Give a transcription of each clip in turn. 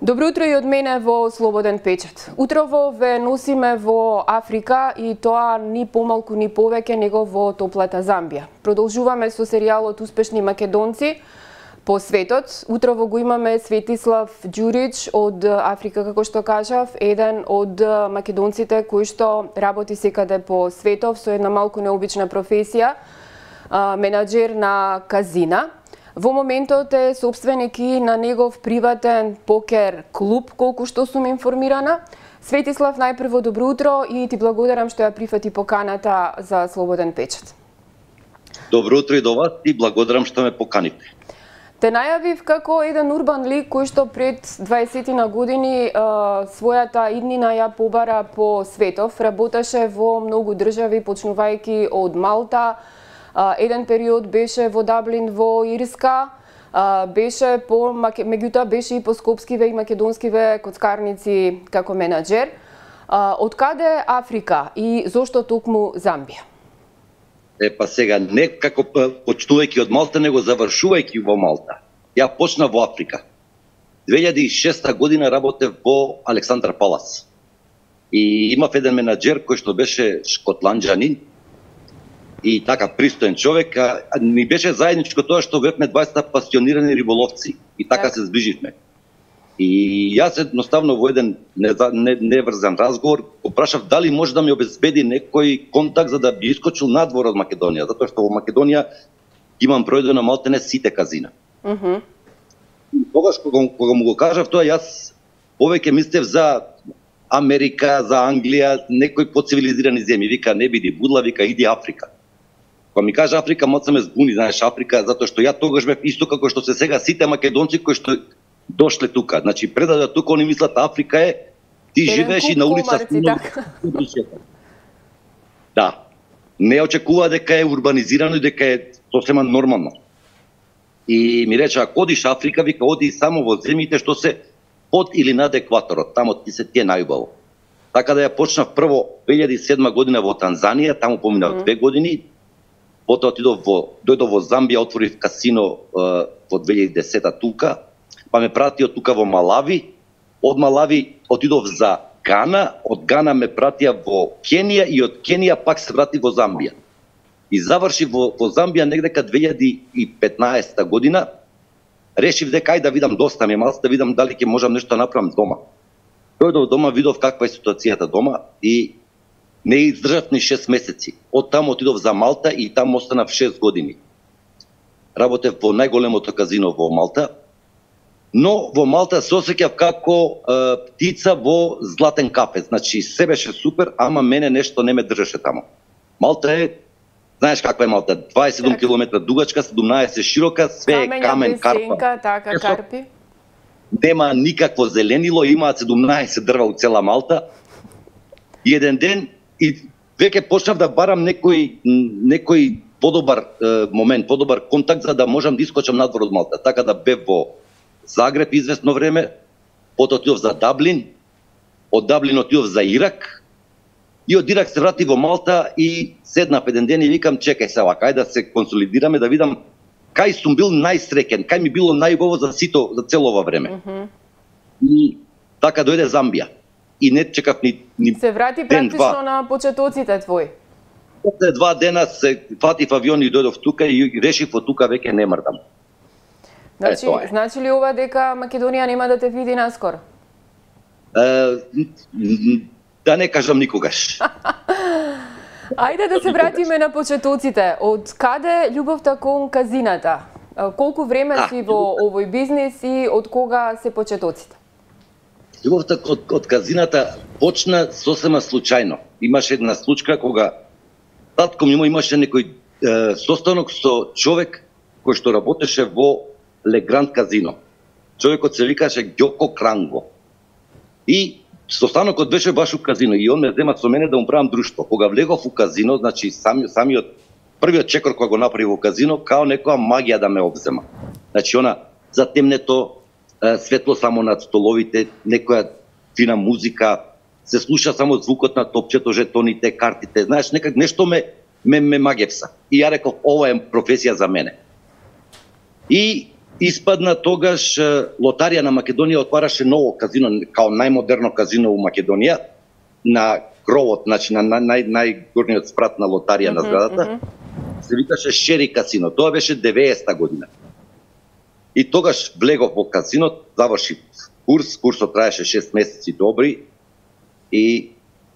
Добро утро и од мене во Слободен печат. Утрово ве носиме во Африка и тоа ни помалку ни повеќе него во топлата Замбија. Продолжуваме со серијалот Успешни македонци по светот. Утрово го имаме Светислав Ѓурич од Африка, како што кажав, еден од македонците кои што работи секаде по светов со една малку необична професија, менаџер на казина. Во моментот е собственик и на негов приватен покер клуб, колку што сум информирана. Светислав, најпрво добро утро и ти благодарам што ја прифати поканата за Слободен печат. Добро утро и до вас и благодарам што ме поканите. Те најавив како еден урбан лик кој што пред 20 на години својата иднина ја побара по светов. Работеше во многу држави, почнувајќи од Малта. Еден период беше во Даблин во Ирска, меѓутоа беше и по скопскиве и македонскиве коцкарници како менаџер. Од каде Африка и зошто токму Замбија? Па сега, не како почнувајќи од Малта, него завршувајќи во Малта. Ја почна во Африка. 2006 година работев во Александър Палас. И имав еден менаџер кој што беше шкотланџанин, и така пристоен човек, ни беше заедничко тоа што бевме 20 пасионирани риболовци и така се зближивме. И јас едноставно во еден неврзан разговор го прашав дали може да ми обезбеди некој контакт за да би искочил надвор од Македонија, затоа што во Македонија имам пројдено малтене сите казина. Тогаш кога му го кажав тоа, јас повеќе мислев за Америка, за Англија, некои поцивилизирани земји. Вика, не биди будла, вика, иди Африка. Кога ми кажа Африка, моца ме збуни, знаеш, Африка, затоа што ја тогаш бев исто како што се сега сите македонци кои што дошле тука. Значи, пред да тука они мислат Африка е, ти живееш и на улица. Да. Не очекува дека е урбанизирано и дека е сосема нормално. И ми рече, ако одиш Африка, вика, оди само во земјите што се под или над екваторот, тамо ти се ти е најубаво. Така да ја почнав прво 2007 година во Танзанија, таму поминав 2 години. Потоа дојдов во Замбија, отворив касино во 2010 тука, па ме пратио тука во Малави. Од Малави отидов за Гана, од Гана ме пратија во Кенија и од Кенија пак се врати во Замбија. И заврши во Замбија негдека 2015 година. Решив дека ајде да видам, доста ми е малку, да видам дали ќе можам нешто да направам дома. Дојдов дома, видов каква е ситуацијата дома и не издржав ни 6 месеци. Од таму отидов за Малта и таму останав 6 години. Работев во најголемото казино во Малта, но во Малта се осеќав како птица во златен кафе. Значи, се беше супер, ама мене нешто не ме држеше таму. Малта е, знаеш каква е Малта, 27 км дугачка, 17 широка, све е камен, карпа. Така, карпи. Нема никакво зеленило, имаат 17 дрва у цела Малта. И еден ден и веќе почнав да барам некој подобар момент, подобар контакт за да можам да искочам надвор од Малта. Така да бев во Загреб известно време, потоа отидов за Даблин, од Даблин отидов за Ирак и од Ирак се врати во Малта и седнав еден ден и викам чекај се вака, ајде да се консолидираме, да видам кај сум бил најсреќен, кај ми било најубаво за сито, за цело ова време. И така дојде Замбија. И не чекав ни се врати практично на почетоците твои. После 2 дена се фатив авион и дојдов тука и решив од тука веќе не мрдам. Значи ли ова дека Македонија нема да те види наскоро? Да не кажам никогаш. Ајде да се вратиме на почетоците. Од каде љубовта кон казината? Колку време си во овој бизнис и од кога се почетоците? Љубовта од казината почна сосема случајно. Имаше една случка кога татко ми имаше некој состанок со човек кој што работеше во Легранд казино. Човекот се викаше Ѓоко Кранго. И состанокот беше баш у казино и он ме зема со мене да му правам друштво. Кога влегов у казино, значи самиот првиот чекор кога го направи во казино, као некоја магија да ме обзема. Значи она затемнето, светло само над столовите, некоја фина музика, се слуша само звукот на топчето, жетоните, картите, знаеш, некак нешто ме магевса. И ја реков, ова е професија за мене. И испадна тогаш Лотарија на Македонија отвараше ново казино, као најмодерно казино у Македонија, на кровот, значи на најгорниот спрат на Лотарија на зградата, се викаше Шери касино. Тоа беше 90-та година. И тогаш влегов во казино, заврши курсот траеше 6 месеци добри, и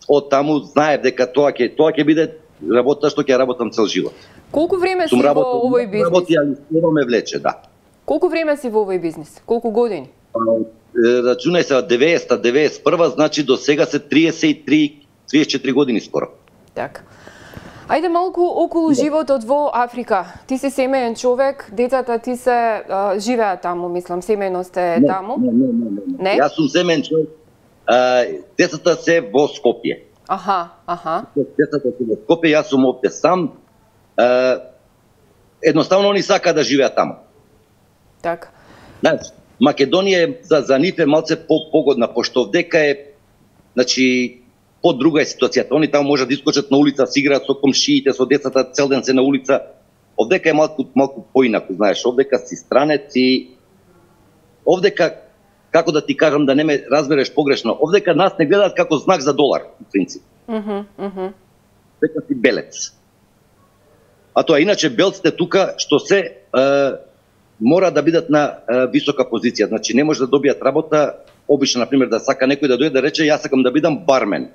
од таму знаев дека тоа ќе биде работа што ќе работам цел живот. Колку време си во овој бизнис? Работи, али скоро ме влече, да. Колку време си во овој бизнис? Колку години? Рачунај се од 90-та, 91-та, значи до сега се 34 години скоро. Така. Ајде малку околу животот во Африка. Ти си семеен човек, децата ти се живеат таму, мислам, семејно сте таму? Не. Јас сум семеен човек. Децата се во Скопје. Аха. Децата се во Скопје, јас сум овде сам. Едноставно они сакаат да живеат таму. Така. Значи, Македонија за нив е малце погодна, пошто овдека е, значи, друга е ситуацијата. Они таму можат да искочат на улица, си играат со комшиите, со децата, цел ден се на улица. Овдека е малку поинаку, знаеш, овдека си странец и овдека, како да ти кажам да не ме разбереш погрешно, овдека нас не гледаат како знак за долар, в принцип. Дека си белец. А тоа иначе белците тука што се мора да бидат на висока позиција, значи не може да добијат работа. Обично, например, да сака некој да дојде да рече јас сакам да бидам бармен.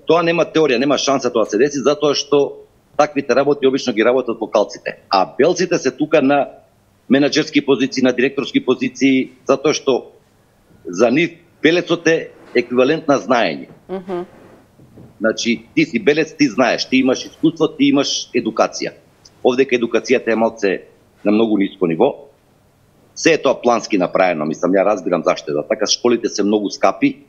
Тоа нема теорија, нема шанса тоа се деси, затоа што таквите работи обично ги работат локалците. А белците се тука на менаџерски позиции, на директорски позиции, затоа што за нив белецот е еквивалент на знаење. Значи, ти си белец, ти знаеш, ти имаш искуство, ти имаш едукација. Овдека едукацијата е малце на многу ниско ниво. Се е тоа плански направено, мислам, ја разбирам зашто е така, школите се многу скапи,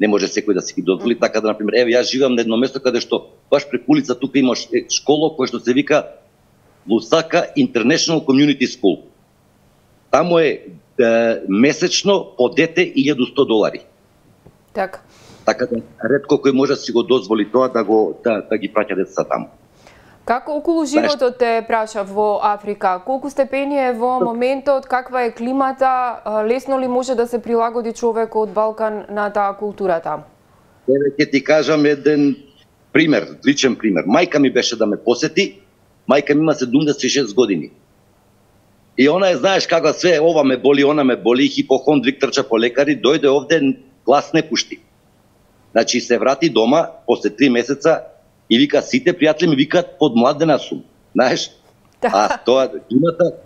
не може секој да си ги дозволи, така да, например, еве, јас живеам на едно место каде што баш преку улица тука имаш школа која што се вика Лусака International Community School. Таму е месечно по дете $1100. Така. Така да ретко кој може да си го дозволи тоа да ги праќа децата таму. Како околу животот те праша во Африка? Колку степени е во моментот, каква е климата, лесно ли може да се прилагоди човек од Балкан на таа култура таму? Еве ќе ти кажам еден пример, личен пример. Мајка ми беше да ме посети, мајка ми има 76 години. И она знаеш како све, ова ме боли, она ме боли, хипохондрик, трча по лекари, дојде овде, глас не пушти. Значи се врати дома после 3 месеца и вика, сите пријатели ми викаат подмладена сум. Знаеш? А тоа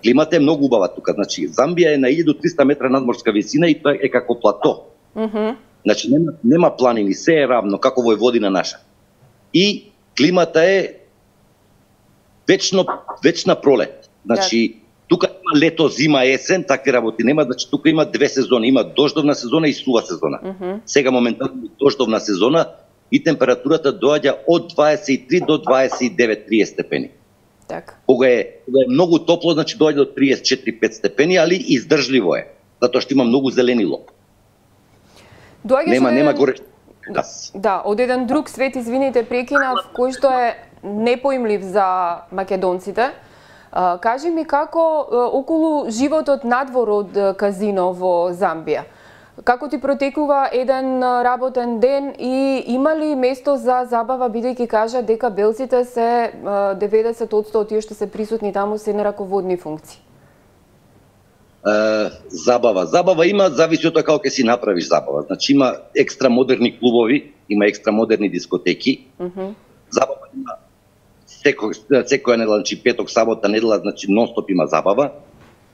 климата е многу убава тука. Значи Замбија е на 1300 метра надморска висина и тоа е како плато. Значи нема планини, се е равно како во Војводина наша. И климата е вечна пролет. Значи тука има лето, зима, есен, такви работи нема, значи тука има две сезони, има дождовна сезона и сува сезона. Сега моментално дождовна сезона и температурата доаѓа од 23 до 29-30 степени. Така. Кога е многу топло, значи доаѓа до 34-5 степени, али издржливо е, затоа што има многу зеленило. Нема горе. Да, од еден друг свет, извините, прекинав, кој што е непоимлив за македонците. Кажи ми како околу животот надвор од казино во Замбија. Како ти протекува еден работен ден и има ли место за забава, бидејќи кажа дека белците се 90% тие што се присутни таму се на раководни функции? Забава има, зависи од тоа како ќе си направиш забава. Значи има екстра модерни клубови, има екстра модерни дискотеки. Забава има секоја недела, значи петок, сабота, недела, значи нон-стоп има забава.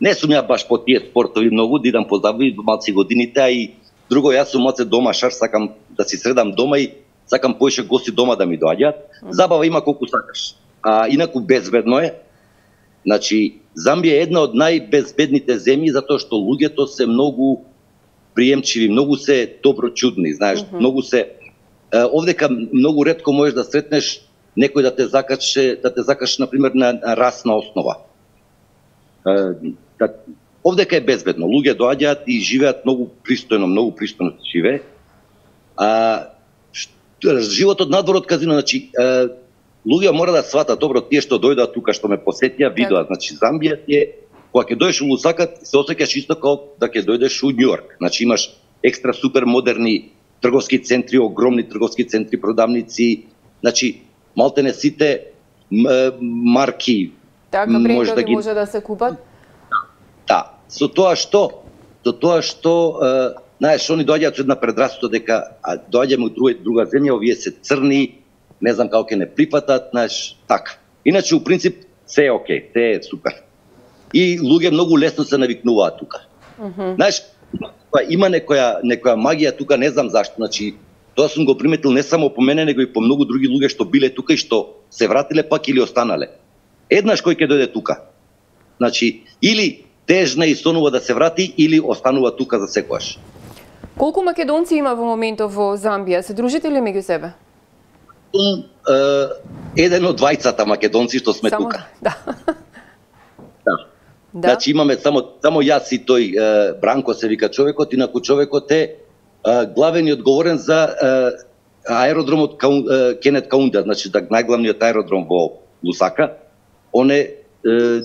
Не сум ја баш по тие спортови многу, да идам по забави малци годините, а и друго, јас сум оце домашар, сакам да си средам дома и сакам поише гости дома да ми доаѓаат. Забава има колку сакаш. А инаку безбедно е. Значи, Замбија е една од најбезбедните земји, затоа што луѓето се многу приемчиви, многу се доброчудни, знаеш, многу се... Овдека многу ретко можеш да сретнеш некој да те закаче, например, на расна основа. Овдека е безбедно. Луѓе доаѓаат и живеат многу пристојно живее. Животот надвор од казино, значи, луѓе мора да сватат, добро, тие што дојдат тука, што ме посетија, видоа, значи, Замбија е кога ќе дојдеш у Лусака, се осеќаш исто како да ќе дојдеш у Њујорк. Значи имаш екстра супер модерни трговски центри, огромни трговски центри, продавници, значи малтене сите марки така брендови може да се купат? Да, со тоа што знаеш, они доаѓаат со една предрасуда дека доаѓаме од друга земја, овие се црни, не знам како ќе не прифатат, знаеш, така. Иначе, у принцип, се е окей, се е супер. И луѓе многу лесно се навикнуваат тука. Знаеш, има некоја магија тука, не знам зашто, значи, тоа сум го приметил не само по мене, него и по многу други луѓе што биле тука и што се вратиле пак или останале. Еднаш кој ќе дојде тука, значи, или тежна и сонува да се врати, или останува тука за секојаш. Колку македонци има во моментов во Замбија? Се дружите ли меѓу себе? Еден од двајцата македонци што сме тука. Да. Значи имаме само јас и тој Бранко се вика човекот, инаку човекот е главен и одговорен за аеродромот Кенет Каунда, значи најглавниот аеродром во Лусака. Он е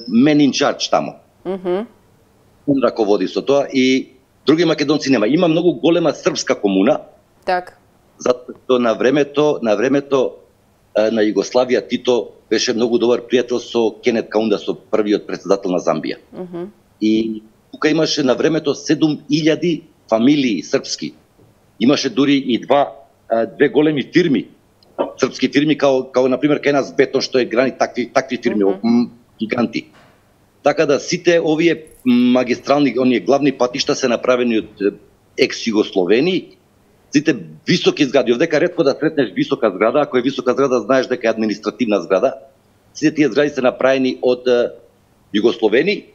мен in charge тамо. Он раководи со тоа и други македонци нема. Има многу голема српска комуна. Так. Затоа на времето на Југославија Тито беше многу добар пријател со Кенет Каунда, со првиот претседател на Замбија. И тука имаше на времето 7000 фамилии српски. Имаше дури и две големи фирми, српски фирми, као на пример кај нас Бетон, што е грани такви фирми, гиганти. Така да сите овие магистрални, оние главни патишта се направени од екс-Југословени, сите високи згради, овдека ретко да сретнеш висока зграда, ако е висока зграда знаеш дека е административна зграда. Сите тие згради се направени од Југословени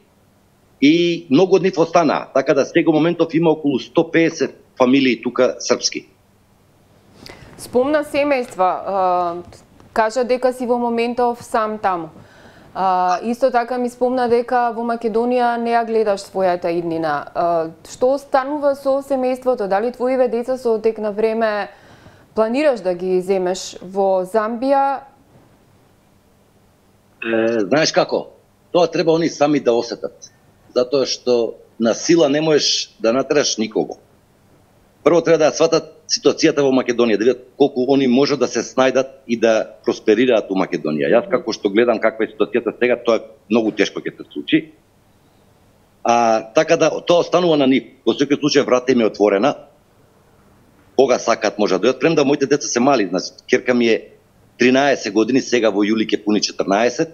и многу од нив останаа. Така да сега моментов има околу 150 фамилии тука српски. Спомна семејства, кажа дека си во моментов сам таму. Исто така ми спомна дека во Македонија не ја гледаш својата иднина. Што станува со семејството? Дали твоиве деца со тек на време планираш да ги земеш во Замбија? Знаеш како? Тоа треба они сами да осетат. Затоа што на сила не можеш да натераш никого. Прво треба да сватат ситуацијата во Македонија, да видат колку они можат да се снајдат и да просперираат во Македонија. Јас како што гледам каква е ситуацијата сега, тоа е многу тешко ќе се случи. Така да тоа останува на нив. Во секој случај врата им е отворена. Кога сакат може да дојдат, премда моите деца се мали, значи ќерка ми е 13 години, сега во јули ќе пуни 14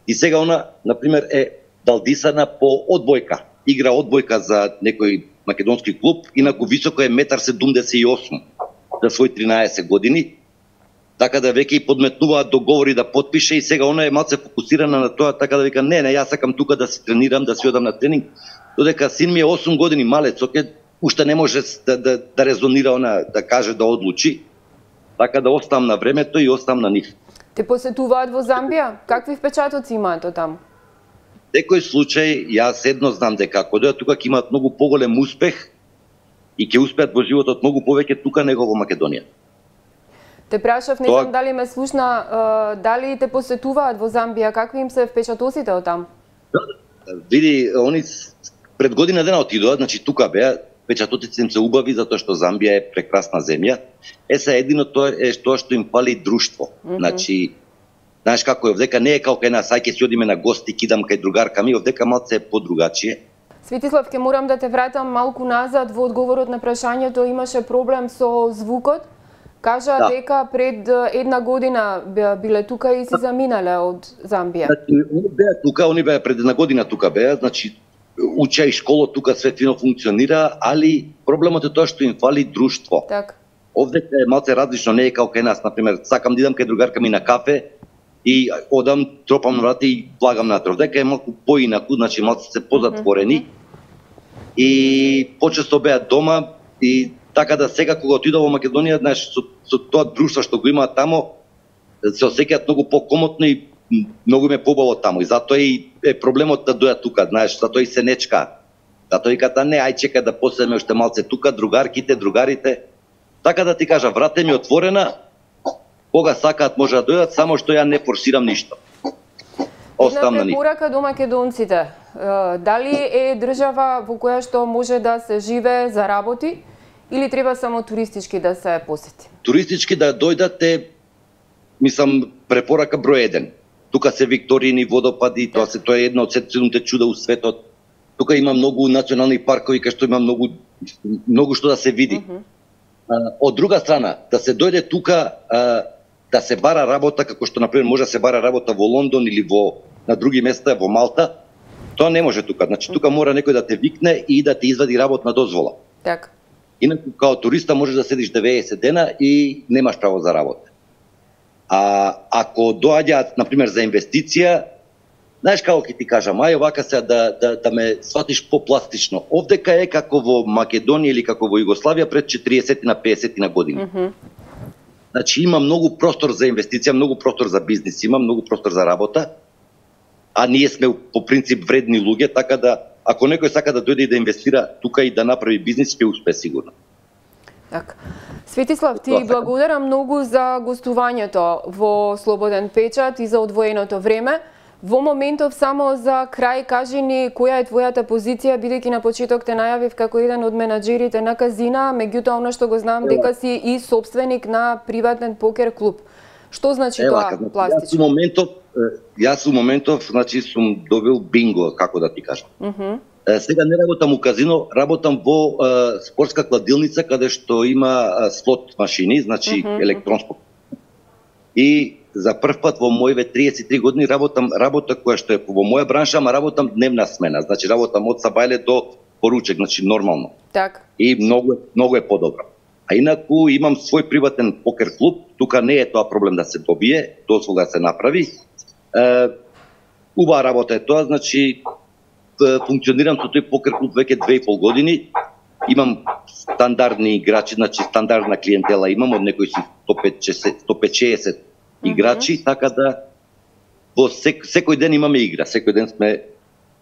и сега она на пример е далдисана по одбојка. Игра одбојка за некој македонски клуб, инаку високо е 1,78 м за свој 13 години. Така да веќе и подметнуваат договори да потпише и сега она е малце фокусирана на тоа, така да вика не, јас сакам тука да се тренирам, да си одам на тренинг, додека син ми е 8 години малец, уште не може да резонира она, да каже, да одлучи. Така да оставам на времето и оставам на нив. Те посетуваат во Замбија? Какви впечатоци имаат од таму? Некој случај, јас едно знам дека ако дојдат тука ќе имаат многу поголем успех и ќе успеат во животот многу повеќе тука него во Македонија. Те прашав, не знам дали ме слушна, дали те посетуваат во Замбија, какви им се впечатоците од таму? Види, они пред година дена отидоа, значи тука беа, впечатоците им се убави затоа што Замбија е прекрасна земја. Се едино тоа е тоа што им фали друштво. Значи, знаеш како е, овдека не е како кај нас, ајде ќе си одиме на гости, кидам кај другарка ми, овдека малце е подругачие. Светислав, ќе морам да те вратам малку назад во одговорот на прашањето, имаше проблем со звукот. Кажа дека пред една година биле тука и си заминале од Замбија. Значи, они беа тука, они беа пред една година тука беа, значи учеа и школа тука, све фино функционира, али проблемот е тоа што им фали друштво. Так. Овдека е малце различно, не е како кај нас, например, сакам да идам кај другарка ми на кафе и одам, тропам на врата и влагам натре. Овдека е малку поинаку, значи малце се позатворени и почесто беа дома и така да сега кога отидов во Македонија, знаеш, со тоа друштво што го имаат тамо, се осеќаат многу покомотно и многу ме побаво тамо. И затоа и е проблемот да дојат тука, знаеш, затоа и се нечка. Затоа викаат, не, ај чека да поседеме уште малце тука, другарките, другарите. Така да ти кажа, врата ми е отворена, кога сакаат може да дојдат, само што ја не форсирам ништо. оставам на нив. Една препорака до македонците. Дали е држава во која што може да се живее, заработи, или треба само туристички да се посети? Туристички да дојдат е, мислам, препорака број 1. Тука се Викторијини водопади, тоа е една од 7 чуда у светот. Тука има многу национални паркови кај што има многу што да се види. Од друга страна, да се дојде тука да се бара работа, како што например може да се бара работа во Лондон или на други места, во Малта, тоа не може тука. Значи тука мора некој да те викне и да те извади работна дозвола. Така. Инаку као туриста можеш да седиш 90 дена и немаш право за работа. А ако доаѓаат например за инвестиција, знаеш како ќе ти кажам, ај овака се да ме сватиш попластично. Овдека е како во Македонија или како во Југославија пред 40 на 50 на години. Значи има многу простор за инвестиција, многу простор за бизнис, има многу простор за работа, а ние сме по принцип вредни луѓе, така да ако некој сака да дојде и да инвестира тука и да направи бизнис, ќе успее сигурно. Така. Светислав, ти благодарам многу за гостувањето во Слободен печат и за одвоеното време. Во моментов само за крај кажи ни која е твојата позиција, бидејќи на почеток те најавив како еден од менаџерите на казина, меѓутоа она што го знам дека си и собственик на приватен покер клуб. Што значи тоа пластично? Јас у моментов, значи сум добил бинго, како да ти кажам. Сега не работам у казино, работам во спортска кладилница каде што има слот машини, значи електронско. И за прв пат во моите 33 години работам работа која што е во моја бранша, ама работам дневна смена. Значи работам од сабајле до поручек, значи нормално. Так. И многу е подобро. А инаку имам свој приватен покер клуб, тука не е тоа проблем да се добие, дозвола да се направи. Убава работа е тоа, значи функционирам со тој покер клуб веќе 2,5 години. Имам стандардни играчи, значи стандардна клиентела имам, од некои си 150-160 играчи, така да во секој ден имаме игра, секој ден сме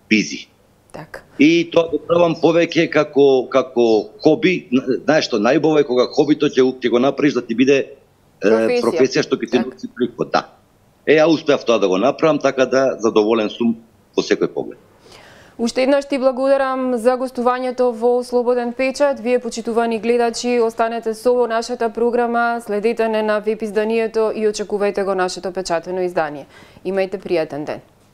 бизи. Так. И тоа го правам повеќе како хоби. Знаеш што, најубаво е кога хобито ќе го направиш да ти биде професија што ќе ти носи приход. Да. Ја успеав тоа да го направам, така да задоволен сум во секој поглед. Уште еднаш ти благодарам за гостувањето во Слободен печат. Вие, почитувани гледачи, останете со нашата програма, следете не на веб изданието и очекувајте го нашето печатено издание. Имајте пријатен ден.